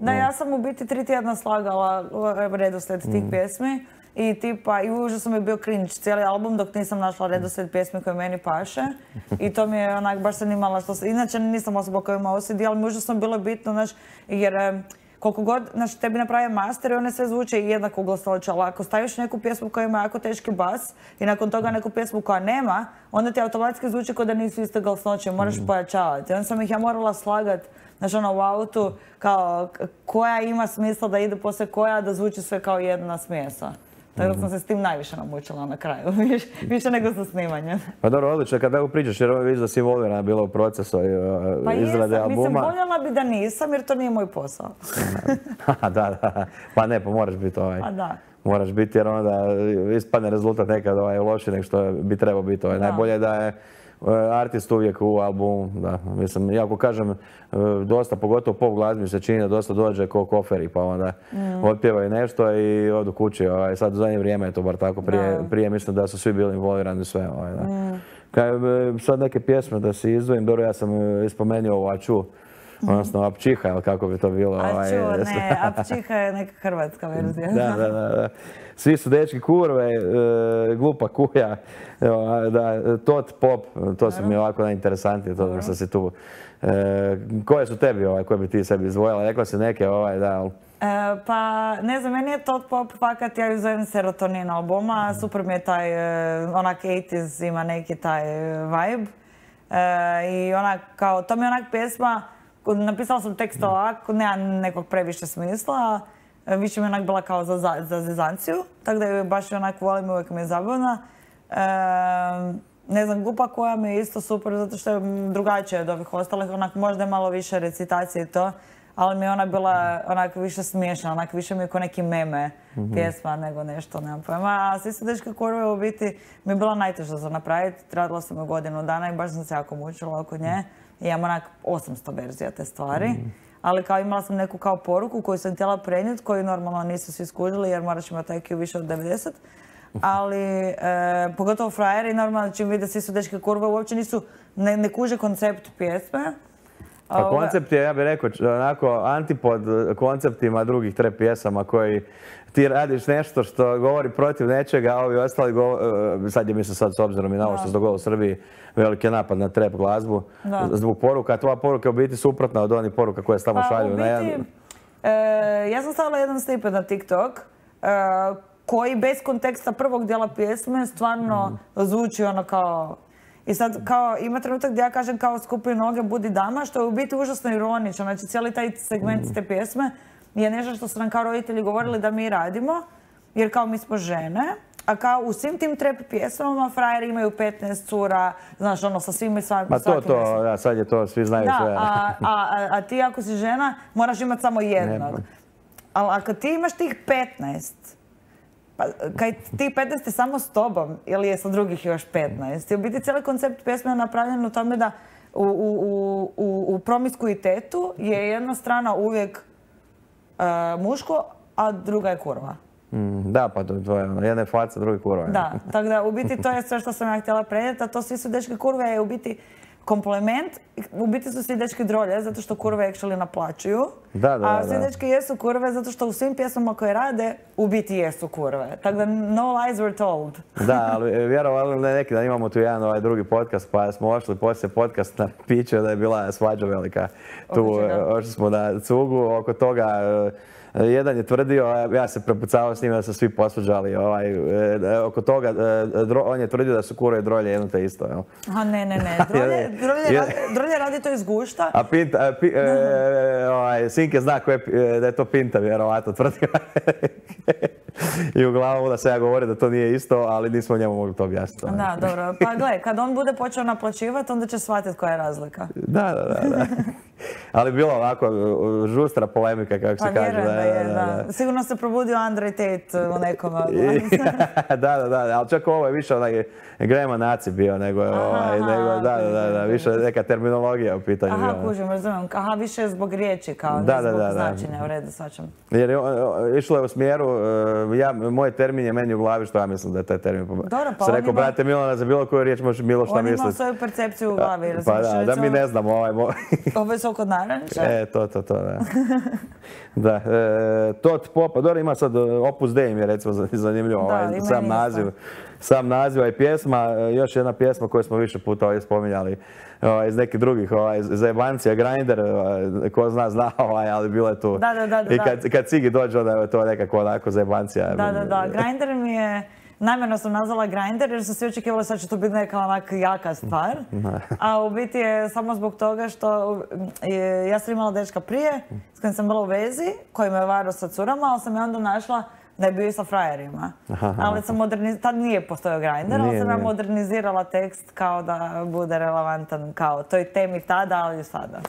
Da, ja sam u biti 3 tjedna slagala redoslijed tih pjesmi i tipa, i užasno mi je bio cringe cijeli album dok nisam našla redoslijed pjesmi koje meni paše i to mi je onak, baš sam imala što se, inače nisam osoba koja ima OCD, ali mi užasno bilo bitno, znaš, jer koliko god, znači, tebi naprave master i one sve zvuče jednako glasnoće, ali ako staviš neku pjesmu koja ima jako teški bas i nakon toga neku pjesmu koja nema, onda ti automatski zvuči kao da nisu iste glasnoće, moraš pojačavati. Onda sam ih ja morala slagati, znači u autu, kao koja ima smisla da ide poslije koja, da zvuči sve kao jedna smjesa. Tako da sam se s tim najviše namučila na kraju, više nego sa snimanjem. Pa dobro, odlično, kad tako pričaš, jer vidiš da si involvirana bila u procesu izrade albuma. Mislim, voljela bi da nisam, jer to nije moj posao. Da, pa ne, pa moraš biti Pa da. Moraš biti, jer onda ispadne rezultat nekad loši nego što bi trebao biti. Najbolje je da je artist uvijek u albumu, da. Mislim, iako kažem, dosta, pogotovo pop glazbi mi se čini da dosta dođe ko koferi, pa onda otpjevaju nešto i odu kući. Sad u zadnje vrijeme je to bar tako. Prije mislim da su svi bili involvirani sve. Sad neke pjesme da si izdvojim, dobro, ja sam ispomenuo ovu Aču, odnosno Apčiha, ili kako bi to bilo. Aču, ne, Apčiha je neka hrvatska verzija. Da. Svi su dečki kurve, glupa kuja, tot pop, to su mi ovako najinteresantnije, to što si tu. Koje su tebi, koje bi ti sebi izdvojila? Rekla si neke, da. Pa, ne znam, meni je tot pop fakat, ja ju zovem Serotonin albuma, super mi je taj, onak 80s ima neki taj vibe. I onak, kao, to mi je onak pjesma, napisala sam tekst ovako, nema nekog previše smisla, više mi je onak bila kao za zezanciju, tako da ju baš onak volim, uvijek mi je zabavna. Ne znam, Glupa koja mi je isto super zato što je drugačija od ovih ostalih, onak možda je malo više recitacije i to, ali mi je ona bila onak više smiješna, onak više mi je ko neki meme pjesma nego nešto, nemam pojma. A Svi su dečki kurve u biti mi je bila najteža za napraviti, radila sam je godinu dana i baš sam se jako mučila oko nje. I imam onak 800 verzija te stvari. Ali kao imala sam neku kao poruku koju sam htjela prenijeti, koju normalno nisu svi skužili jer moraš imati IQ više od 90. Ali pogotovo frajeri normalno čim vide Svi su dečki kurve uopće nisu, ne kuže koncept pjesme. Pa koncept je, ja bih rekao, onako antipod konceptima drugih trap pjesama koji ti radiš nešto što govori protiv nečega, a ovi ostali sad je mislim sad s obzirom i na ovo što se dogodilo u Srbiji, veliki napad na trap glazbu zbog poruka, a tvoja poruka je u biti suprotna od onih poruka koje se tamo šalju. Ja sam stavila jedan snippet na TikTok koji bez konteksta prvog dijela pjesme stvarno zvuči ono kao... I sad kao ima trenutak gdje ja kažem kao skupi noge, budi dama, što je u biti užasno ironično. Znači cijeli taj segment te pjesme je nešto što su nam kao roditelji govorili da mi radimo, jer kao mi smo žene, a kao u svim tim trap pjesmama frajeri imaju 15 cura, znaš ono sa svim i svakim. Pa to, da, sad je to, svi znaju sve. A ti ako si žena moraš imati samo jednog. Ali ako ti imaš tih 15, pa kaj ti 15 je samo s tobom ili je sa drugih još 15? I u biti cijeli koncept pjesme je napravljen u tome da u promiskuitetu je jedna strana uvijek muško, a druga je kurva. Da, pa to je jedna je faca, druga je kurva. Da, tako da u biti to je sve što sam ja htjela prenijeti, a to Svi su dečki kurve je u biti kompliment. U biti su svi dečki drolje, zato što kurve actually naplaćuju. A svi dečki jesu kurve, zato što u svim pjesmama koje rade, u biti jesu kurve. Tako da no lies were told. Da, ali vjerovali neki dan imamo tu jedan drugi podcast, pa smo ošli poslije podcasta piće da je bila svađa velika. Tu ošli smo na cugu, oko toga jedan je tvrdio, ja se prepucavao s njim da su svi posvađali oko toga, on je tvrdio da su kurve i drolje jedno te isto. Aha, ne. Drolje radi to iz gušta. A Sinke zna da je to Pinta, vjerovatno tvrdio. I uglavnom da se ja govorio da to nije isto, ali nismo njemu mogli to objasniti. Da, dobro. Pa gle, kad on bude počeo naplaćivati, onda će shvatiti koja je razlika. Da. Ali bilo ovako žustra polemika, kako se kaže. Da. Sigurno se probudio Andrej Tate u nekom. Da, ali čak ovo je više onaj Grema Naci bio, nego više neka terminologija u pitanju. Aha, kužim, razumijem. Aha, više zbog riječi, kao ne zbog značenja, u redu, svačam. Jer išlo je u smjeru moj termin je meni u glavi što ja mislim da je taj termin. Dobro, pa sam rekao, brate Milana, za bilo koju riječ možeš Milo šta misliti. On ima svoju percepciju u glavi. Pa da mi ne znamo. Ovo je sok od naranča. To, da. Da, Tot Popa, dobro ima sad Opus Dei mi je recimo zanimljivo, sam naziv i pjesma, još jedna pjesma koju smo više puta spominjali iz nekih drugih zajebancija, Grindr, ko zna, ali bilo je tu. I kad Cigi dođe, onda je to nekako onako zajebancija. Da, Grindr mi je, namjerno sam nazvala Grindr jer sam svi očekivali sad će to biti neka onak jaka stvar. A u biti je samo zbog toga što ja sam imala dečka prije s kojim sam bila u vezi, koji me varao sa curama, ali sam je onda našla da je bio i sa frajerima. Ali sam tad nije postojao Grindr, ali sam ja modernizirala tekst kao da bude relevantan kao toj temi tada, ali i sada.